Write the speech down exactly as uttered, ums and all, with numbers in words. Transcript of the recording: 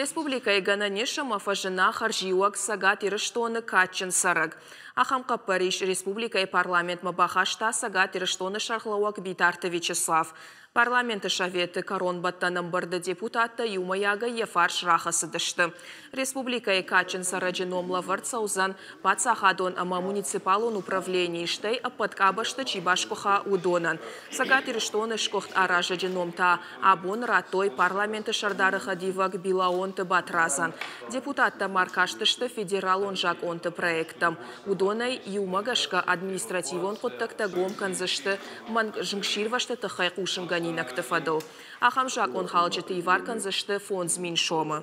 Республикӕйы гӕнӕн ис, ӕмӕ фӕзына хӕрзиуӕг «Цӕгат Ирыстоны кадджын цӕрӕг». Ахӕм хъӕппӕрис республикӕйы парламентмӕ бахаста Цӕгат Ирыстоны сӕргълӕууӕг Битарты Вячеслав. Парламенты советы кӕронбӕттӕн ӕмбырды депутаттӕ иумӕйагӕй йӕ фарс рахӕцыдысты. Республикӕйы кадджын цӕрӕджы ном лӕвӕрд цӕудзӕн паддзахадон ӕмӕ муниципалон управленийы, стӕй ӕппӕт къабӕзты чи басгуыха, уыдонӕн. Цӕгат Ирыстоны сгуыхт аразӕджы ном та абон радтой парламенты сӕрдары хӕдивӕг Билаонты Батрадзӕн. Депутаттӕ ма ркастысты федералон закъонты проекттӕм. Уыдонӕй иумӕ гӕсгӕ административон хъуыддӕгтӕ гом кӕндзысты мӕнг зынгсирвӕзты тыххӕй хъусынгӕнинӕгты фӕдыл. Ахӕм закъонхалджыты ивар кӕндзысты фондз мин сомы.